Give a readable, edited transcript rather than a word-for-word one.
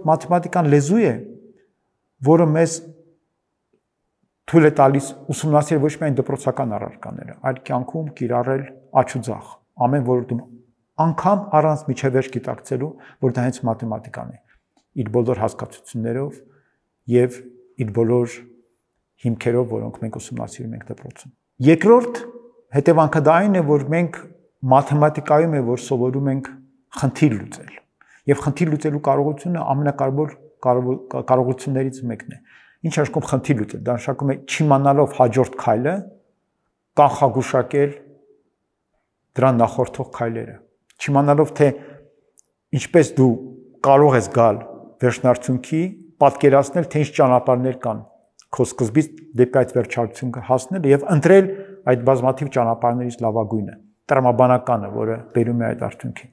մաթեմատիկան լեզու է, որը մեզ թույլ է տալիս ուսումնասիրել ոչ միայն դպրոցական առարկաները, այլ կյանքում կիրառել աջ ու ձախ, ամեն ոլորտում, անգամ առանց միջևերջ գիտակցելու, որ դա հենց մաթեմատիկան է, իր բոլոր հասկացություններով եւ իր բոլոր հիմքերով, որոնք մենք ուսումնասիրում ենք դպրոցում։ Երկրորդ հետևանքը դա այն է, որ մենք մաթեմատիկայում է, որ սովորում ենք խնդիր լուծել, եւ խնդիր լուծելու կարողությունը ամենակարևոր կարողություններից մեկն է։ Ինչ աշխում խնդիր լուծել, դա նշանակում է չիմանալով հաջորդ քայլը, կանխագուշակել դրան նախորդող քայլերը, չիմանալով թե ինչպես դու կարող ես գալ վերջնարդյունքի, պատկերացնել, թե ինչ ճանապարհներ կան քո սկզբից դեպի այդ վերջարդյունքը հասնել եւ ընտրել այդ բազմաթիվ ճանապարհներից լավագույնը, տրամաբանականը, որը բերում է այդ արդյունքին։